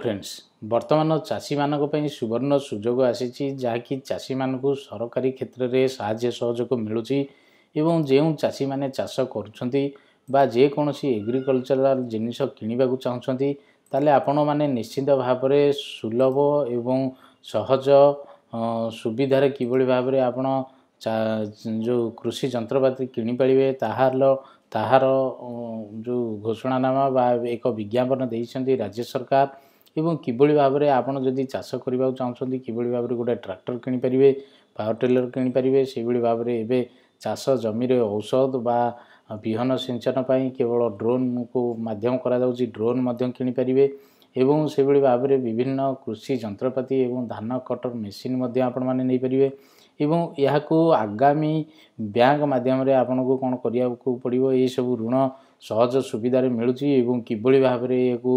Friends, ବର୍ତ୍ତମାନ ଚାଷୀମାନଙ୍କ ପାଇଁ ସୁବର୍ଣ୍ଣ ସୁଯୋଗ ଆସିଛି, ଯାହାକି ଚାଷୀମାନଙ୍କୁ ସରକାରୀ କ୍ଷେତ୍ରରେ ସାହାଯ୍ୟ ସହଯୋଗ ମିଳୁଛି। ଏବଂ ଯେଉଁ ଚାଷୀମାନେ ଚାଷ କରୁଛନ୍ତି ବା ଯେକୌଣସି ଏଗ୍ରିକଲଚରାଲ ଜିନିଷ କିଣିବାକୁ ଚାହୁଁଛନ୍ତି, ତାହେଲେ ଆପଣମାନେ ନିଶ୍ଚିତ ଭାବରେ ସୁଲଭ ଏବଂ ସହଜ ସୁବିଧାରେ କିଭଳି ଭାବରେ ଆପଣ ଯେଉଁ କୃଷି ଯନ୍ତ୍ରପାତି କିଣିପାରିବେ, ତାହାର ଯେଉଁ ଘୋଷଣାନାମା ବା ଏକ ବିଜ୍ଞାପନ ଦେଇଛନ୍ତି ରାଜ୍ୟ ସରକାର। ଏବଂ କିଭଳି ଭାବରେ ଆପଣ ଯଦି ଚାଷ କରିବାକୁ ଚାହୁଁଛନ୍ତି, କିଭଳି ଭାବରେ ଗୋଟେ ଟ୍ରାକ୍ଟର କିଣିପାରିବେ, ପାୱାର ଟିଲର କିଣିପାରିବେ। ସେଇଭଳି ଭାବରେ ଏବେ ଚାଷ ଜମିରେ ଔଷଧ ବା ବିହନ ସିଞ୍ଚନ ପାଇଁ କେବଳ ଡ୍ରୋନ୍କୁ ମାଧ୍ୟମ କରାଯାଉଛି, ଡ୍ରୋନ୍ ମଧ୍ୟ କିଣିପାରିବେ। ଏବଂ ସେଭଳି ଭାବରେ ବିଭିନ୍ନ କୃଷି ଯନ୍ତ୍ରପାତି ଏବଂ ଧାନ କଟର ମେସିନ୍ ମଧ୍ୟ ଆପଣମାନେ ନେଇପାରିବେ। ଏବଂ ଏହାକୁ ଆଗାମୀ ବ୍ୟାଙ୍କ ମାଧ୍ୟମରେ ଆପଣଙ୍କୁ କ'ଣ କରିବାକୁ ପଡ଼ିବ, ଏସବୁ ଋଣ ସହଜ ସୁବିଧାରେ ମିଳୁଛି ଏବଂ କିଭଳି ଭାବରେ ଏହାକୁ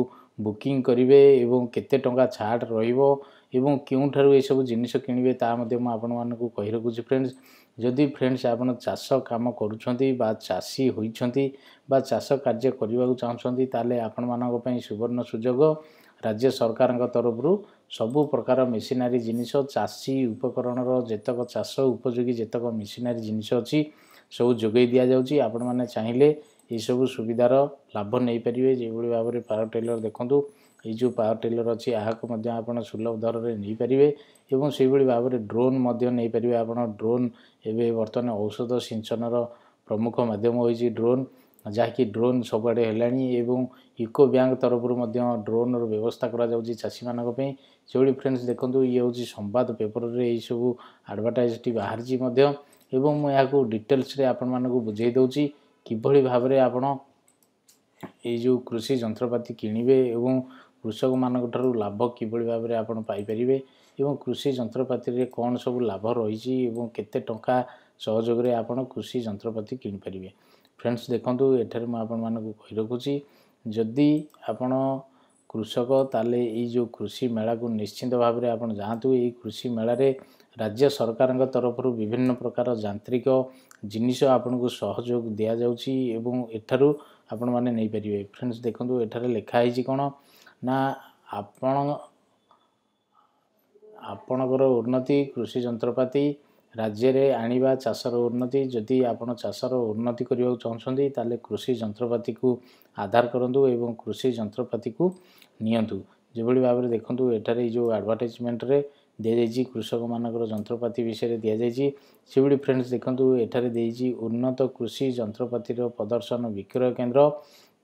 ବୁକିଂ କରିବେ ଏବଂ କେତେ ଟଙ୍କା ଛାଡ଼ ରହିବ ଏବଂ କେଉଁଠାରୁ ଏସବୁ ଜିନିଷ କିଣିବେ, ତାହା ମଧ୍ୟ ମୁଁ ଆପଣମାନଙ୍କୁ କହି ରଖୁଛି। ଫ୍ରେଣ୍ଡସ୍, ଯଦି ଫ୍ରେଣ୍ଡସ୍ ଆପଣ ଚାଷ କାମ କରୁଛନ୍ତି ବା ଚାଷୀ ହୋଇଛନ୍ତି ବା ଚାଷ କାର୍ଯ୍ୟ କରିବାକୁ ଚାହୁଁଛନ୍ତି, ତାହେଲେ ଆପଣମାନଙ୍କ ପାଇଁ ସୁବର୍ଣ୍ଣ ସୁଯୋଗ। ରାଜ୍ୟ ସରକାରଙ୍କ ତରଫରୁ ସବୁ ପ୍ରକାର ମେସିନାରୀ ଜିନିଷ, ଚାଷୀ ଉପକରଣର ଯେତକ ଚାଷ ଉପଯୋଗୀ ଯେତକ ମେସିନାରୀ ଜିନିଷ ଅଛି, ସବୁ ଯୋଗାଇ ଦିଆଯାଉଛି। ଆପଣମାନେ ଚାହିଁଲେ ଏସବୁ ସୁବିଧାର ଲାଭ ନେଇପାରିବେ। ଯେଭଳି ଭାବରେ ପାୱାର ଟିଲର ଦେଖନ୍ତୁ, ଏଇ ଯେଉଁ ପାୱାର ଟିଲର ଅଛି, ଏହାକୁ ମଧ୍ୟ ଆପଣ ସୁଲଭ ଦରରେ ନେଇପାରିବେ। ଏବଂ ସେଇଭଳି ଭାବରେ ଡ୍ରୋନ୍ ମଧ୍ୟ ନେଇପାରିବେ ଆପଣ। ଡ୍ରୋନ୍ ଏବେ ବର୍ତ୍ତମାନ ଔଷଧ ସିଞ୍ଚନର ପ୍ରମୁଖ ମାଧ୍ୟମ ହୋଇଛି ଡ୍ରୋନ୍, ଯାହାକି ଡ୍ରୋନ୍ ସବୁଆଡ଼େ ହେଲାଣି। ଏବଂ ୟୁକୋ ବ୍ୟାଙ୍କ ତରଫରୁ ମଧ୍ୟ ଡ୍ରୋନ୍ର ବ୍ୟବସ୍ଥା କରାଯାଉଛି ଚାଷୀମାନଙ୍କ ପାଇଁ। ସେଭଳି ଫ୍ରେଣ୍ଡସ୍ ଦେଖନ୍ତୁ, ଇଏ ହେଉଛି ସମ୍ବାଦ ପେପରରେ ଏଇସବୁ ଆଡ଼ଭର୍ଟାଇଜ୍ଟି ବାହାରିଛି ମଧ୍ୟ। ଏବଂ ମୁଁ ଏହାକୁ ଡିଟେଲ୍ସରେ ଆପଣମାନଙ୍କୁ ବୁଝାଇ ଦେଉଛି କିଭଳି ଭାବରେ ଆପଣ ଏଇ ଯେଉଁ କୃଷି ଯନ୍ତ୍ରପାତି କିଣିବେ ଏବଂ କୃଷକମାନଙ୍କ ଠାରୁ ଲାଭ କିଭଳି ଭାବରେ ଆପଣ ପାଇପାରିବେ ଏବଂ କୃଷି ଯନ୍ତ୍ରପାତିରେ କ'ଣ ସବୁ ଲାଭ ରହିଛି ଏବଂ କେତେ ଟଙ୍କା ସହଯୋଗରେ ଆପଣ କୃଷି ଯନ୍ତ୍ରପାତି କିଣିପାରିବେ। ଫ୍ରେଣ୍ଡସ୍ ଦେଖନ୍ତୁ, ଏଠାରେ ମୁଁ ଆପଣମାନଙ୍କୁ କହି ରଖୁଛି, ଯଦି ଆପଣ କୃଷକ ତାହେଲେ ଏଇ ଯେଉଁ କୃଷି ମେଳାକୁ ନିଶ୍ଚିନ୍ତ ଭାବରେ ଆପଣ ଯାଆନ୍ତୁ। ଏଇ କୃଷି ମେଳାରେ ରାଜ୍ୟ ସରକାରଙ୍କ ତରଫରୁ ବିଭିନ୍ନ ପ୍ରକାର ଯାନ୍ତ୍ରିକ ଜିନିଷ ଆପଣଙ୍କୁ ସହଯୋଗ ଦିଆଯାଉଛି ଏବଂ ଏଠାରୁ ଆପଣମାନେ ନେଇପାରିବେ। ଫ୍ରେଣ୍ଡସ୍ ଦେଖନ୍ତୁ, ଏଠାରେ ଲେଖା ହେଇଛି କ'ଣ ନା, ଆପଣ ଆପଣଙ୍କର ଉନ୍ନତି କୃଷି ଯନ୍ତ୍ରପାତି ରାଜ୍ୟରେ ଆଣିବା ଚାଷର ଉନ୍ନତି। ଯଦି ଆପଣ ଚାଷର ଉନ୍ନତି କରିବାକୁ ଚାହୁଁଛନ୍ତି, ତାହେଲେ କୃଷି ଯନ୍ତ୍ରପାତିକୁ ଆଧାର କରନ୍ତୁ ଏବଂ କୃଷି ଯନ୍ତ୍ରପାତିକୁ ନିଅନ୍ତୁ। ଯେଭଳି ଭାବରେ ଦେଖନ୍ତୁ, ଏଠାରେ ଏଇ ଯେଉଁ ଆଡ଼ଭର୍ଟାଇଜମେଣ୍ଟରେ ଦିଆଯାଇଛି, କୃଷକମାନଙ୍କର ଯନ୍ତ୍ରପାତି ବିଷୟରେ ଦିଆଯାଇଛି। ସେଭଳି ଫ୍ରେଣ୍ଡସ୍ ଦେଖନ୍ତୁ, ଏଠାରେ ଦେଇଛି ଉନ୍ନତ କୃଷି ଯନ୍ତ୍ରପାତିର ପ୍ରଦର୍ଶନ ବିକ୍ରୟ କେନ୍ଦ୍ର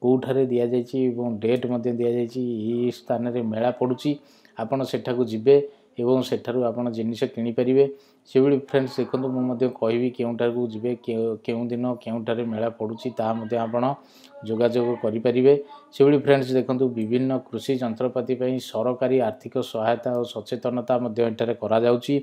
କେଉଁଠାରେ ଦିଆଯାଇଛି ଏବଂ ଡେଟ୍ ମଧ୍ୟ ଦିଆଯାଇଛି। ଏହି ସ୍ଥାନରେ ମେଳା ପଡ଼ୁଛି, ଆପଣ ସେଠାକୁ ଯିବେ ଏବଂ ସେଠାରୁ ଆପଣ ଜିନିଷ କିଣିପାରିବେ। ସେଭଳି ଫ୍ରେଣ୍ଡସ୍ ଦେଖନ୍ତୁ, ମୁଁ ମଧ୍ୟ କହିବି କେଉଁଠାକୁ ଯିବେ, କେଉଁ ଦିନ କେଉଁଠାରେ ମେଳା ପଡ଼ୁଛି, ତାହା ମଧ୍ୟ ଆପଣ ଯୋଗାଯୋଗ କରିପାରିବେ। ସେଭଳି ଫ୍ରେଣ୍ଡସ୍ ଦେଖନ୍ତୁ, ବିଭିନ୍ନ କୃଷି ଯନ୍ତ୍ରପାତି ପାଇଁ ସରକାରୀ ଆର୍ଥିକ ସହାୟତା ଓ ସଚେତନତା ମଧ୍ୟ ଏଠାରେ କରାଯାଉଛି।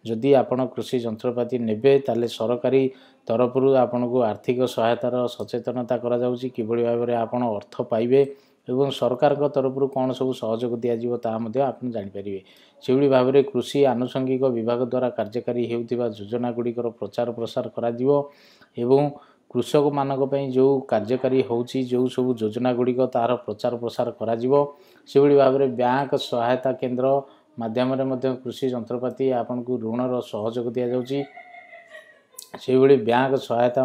ଯଦି ଆପଣ କୃଷି ଯନ୍ତ୍ରପାତି ନେବେ, ତାହେଲେ ସରକାରୀ ତରଫରୁ ଆପଣଙ୍କୁ ଆର୍ଥିକ ସହାୟତାର ସଚେତନତା କରାଯାଉଛି, କିଭଳି ଭାବରେ ଆପଣ ଅର୍ଥ ପାଇବେ ଏବଂ ସରକାରଙ୍କ ତରଫରୁ କ'ଣ ସବୁ ସହଯୋଗ ଦିଆଯିବ, ତାହା ମଧ୍ୟ ଆପଣ ଜାଣିପାରିବେ। ସେଭଳି ଭାବରେ କୃଷି ଆନୁଷଙ୍ଗିକ ବିଭାଗ ଦ୍ୱାରା କାର୍ଯ୍ୟକାରୀ ହେଉଥିବା ଯୋଜନା ଗୁଡ଼ିକର ପ୍ରଚାର ପ୍ରସାର କରାଯିବ ଏବଂ କୃଷକମାନଙ୍କ ପାଇଁ ଯେଉଁ କାର୍ଯ୍ୟକାରୀ ହେଉଛି ଯେଉଁ ସବୁ ଯୋଜନା ଗୁଡ଼ିକ, ତାହାର ପ୍ରଚାର ପ୍ରସାର କରାଯିବ। ସେଭଳି ଭାବରେ ବ୍ୟାଙ୍କ ସହାୟତା କେନ୍ଦ୍ର ମାଧ୍ୟମରେ ମଧ୍ୟ କୃଷି ଯନ୍ତ୍ରପାତି ଆପଣଙ୍କୁ ଋଣର ସହଯୋଗ ଦିଆଯାଉଛି। ସେହିଭଳି ବ୍ୟାଙ୍କ ସହାୟତା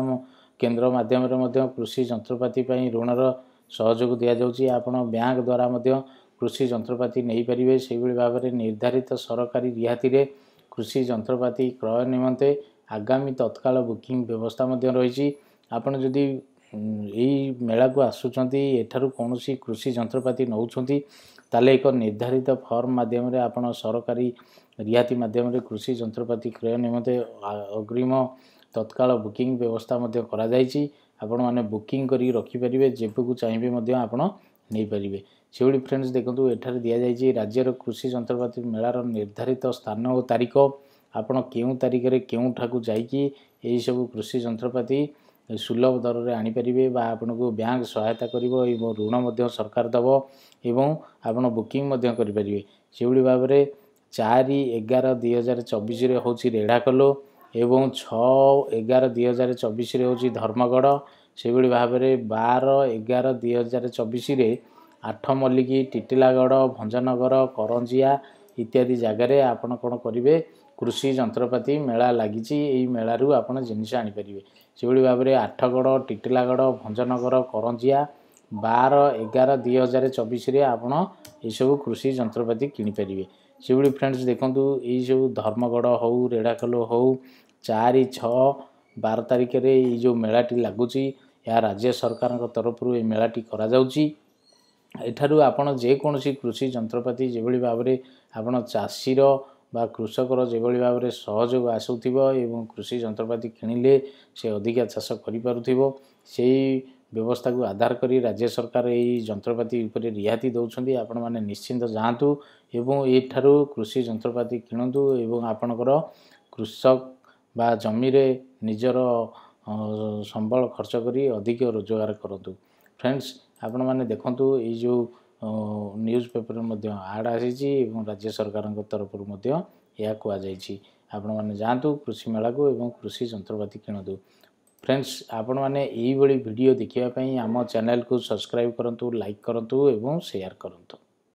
କେନ୍ଦ୍ର ମାଧ୍ୟମରେ ମଧ୍ୟ କୃଷି ଯନ୍ତ୍ରପାତି ପାଇଁ ଋଣର ସହଯୋଗ ଦିଆଯାଉଛି। ଆପଣ ବ୍ୟାଙ୍କ ଦ୍ୱାରା ମଧ୍ୟ କୃଷି ଯନ୍ତ୍ରପାତି ନେଇପାରିବେ। ସେହିଭଳି ଭାବରେ ନିର୍ଦ୍ଧାରିତ ସରକାରୀ ରିହାତିରେ କୃଷି ଯନ୍ତ୍ରପାତି କ୍ରୟ ନିମନ୍ତେ ଆଗାମୀ ତତ୍କାଳ ବୁକିଂ ବ୍ୟବସ୍ଥା ମଧ୍ୟ ରହିଛି। ଆପଣ ଯଦି ଏଇ ମେଳାକୁ ଆସୁଛନ୍ତି, ଏଠାରୁ କୌଣସି କୃଷି ଯନ୍ତ୍ରପାତି ନେଉଛନ୍ତି, ତାହେଲେ ଏକ ନିର୍ଦ୍ଧାରିତ ଫର୍ମ ମାଧ୍ୟମରେ ଆପଣ ସରକାରୀ ରିହାତି ମାଧ୍ୟମରେ କୃଷି ଯନ୍ତ୍ରପାତି କ୍ରୟ ନିମନ୍ତେ ଅଗ୍ରିମ ତତ୍କାଳ ବୁକିଂ ବ୍ୟବସ୍ଥା ମଧ୍ୟ କରାଯାଇଛି। ଆପଣମାନେ ବୁକିଂ କରିକି ରଖିପାରିବେ, ଯେବେକୁ ଚାହିଁବେ ମଧ୍ୟ ଆପଣ ନେଇପାରିବେ। ସେଭଳି ଫ୍ରେଣ୍ଡସ୍ ଦେଖନ୍ତୁ, ଏଠାରେ ଦିଆଯାଇଛି ରାଜ୍ୟର କୃଷି ଯନ୍ତ୍ରପାତି ମେଳାର ନିର୍ଦ୍ଧାରିତ ସ୍ଥାନ ଓ ତାରିଖ। ଆପଣ କେଉଁ ତାରିଖରେ କେଉଁଠାକୁ ଯାଇକି ଏହିସବୁ କୃଷି ଯନ୍ତ୍ରପାତି ସୁଲଭ ଦରରେ ଆଣିପାରିବେ ବା ଆପଣଙ୍କୁ ବ୍ୟାଙ୍କ ସହାୟତା କରିବ ଏବଂ ଋଣ ମଧ୍ୟ ସରକାର ଦେବ ଏବଂ ଆପଣ ବୁକିଂ ମଧ୍ୟ କରିପାରିବେ। ସେଭଳି ଭାବରେ 4/11/2024ରେ ହେଉଛି ରେଢ଼ାଖୋଲ ଏବଂ 6/11/2024ରେ ହେଉଛି ଧର୍ମଗଡ଼। ସେଭଳି ଭାବରେ 12/11/2024ରେ ଆଠମଲ୍ଲିକ, ଟିଟିଲାଗଡ଼, ଭଞ୍ଜନଗର, କରଞ୍ଜିଆ ଇତ୍ୟାଦି ଜାଗାରେ ଆପଣ କ'ଣ କରିବେ, କୃଷି ଯନ୍ତ୍ରପାତି ମେଳା ଲାଗିଛି। ଏଇ ମେଳାରୁ ଆପଣ ଜିନିଷ ଆଣିପାରିବେ। ସେଭଳି ଭାବରେ ଆଠଗଡ଼, ଟିଟିଲାଗଡ଼, ଭଞ୍ଜନଗର, କରଞ୍ଜିଆ 12/11/2024ରେ ଆପଣ ଏଇସବୁ କୃଷି ଯନ୍ତ୍ରପାତି କିଣିପାରିବେ। ସେଭଳି ଫ୍ରେଣ୍ଡସ୍ ଦେଖନ୍ତୁ, ଏଇସବୁ ଧର୍ମଗଡ଼ ହେଉ, ରେଢ଼ାଖୋଲ ହେଉ, 4, 6, 12 ତାରିଖରେ ଏଇ ଯେଉଁ ମେଳାଟି ଲାଗୁଛି, ଏହା ରାଜ୍ୟ ସରକାରଙ୍କ ତରଫରୁ ଏଇ ମେଳାଟି କରାଯାଉଛି। ଏଠାରୁ ଆପଣ ଯେକୌଣସି କୃଷି ଯନ୍ତ୍ରପାତି, ଯେଭଳି ଭାବରେ ଆପଣ ଚାଷୀର ବା କୃଷକର ଯେଭଳି ଭାବରେ ସହଯୋଗ ଆସୁଥିବ ଏବଂ କୃଷି ଯନ୍ତ୍ରପାତି କିଣିଲେ ସେ ଅଧିକା ଚାଷ କରିପାରୁଥିବ, ସେଇ ବ୍ୟବସ୍ଥାକୁ ଆଧାର କରି ରାଜ୍ୟ ସରକାର ଏଇ ଯନ୍ତ୍ରପାତି ଉପରେ ରିହାତି ଦେଉଛନ୍ତି। ଆପଣମାନେ ନିଶ୍ଚିନ୍ତ ଯାଆନ୍ତୁ ଏବଂ ଏଠାରୁ କୃଷି ଯନ୍ତ୍ରପାତି କିଣନ୍ତୁ ଏବଂ ଆପଣଙ୍କର କୃଷକ ବା ଜମିରେ ନିଜର ସମ୍ବଳ ଖର୍ଚ୍ଚ କରି ଅଧିକ ରୋଜଗାର କରନ୍ତୁ। ଫ୍ରେଣ୍ଡସ୍, ଆପଣମାନେ ଦେଖନ୍ତୁ, ଏଇ ଯେଉଁ ନ୍ୟୁଜ୍ ପେପରରେ ମଧ୍ୟ ଆଡ଼୍ ଆସିଛି ଏବଂ ରାଜ୍ୟ ସରକାରଙ୍କ ତରଫରୁ ମଧ୍ୟ ଏହା କୁହାଯାଇଛି। ଆପଣମାନେ ଯାଆନ୍ତୁ କୃଷି ମେଳାକୁ ଏବଂ କୃଷି ଯନ୍ତ୍ରପାତି କିଣନ୍ତୁ। ଫ୍ରେଣ୍ଡସ୍, ଆପଣମାନେ ଏଇଭଳି ଭିଡ଼ିଓ ଦେଖିବା ପାଇଁ ଆମ ଚ୍ୟାନେଲକୁ ସବସ୍କ୍ରାଇବ୍ କରନ୍ତୁ, ଲାଇକ୍ କରନ୍ତୁ ଏବଂ ସେୟାର କରନ୍ତୁ।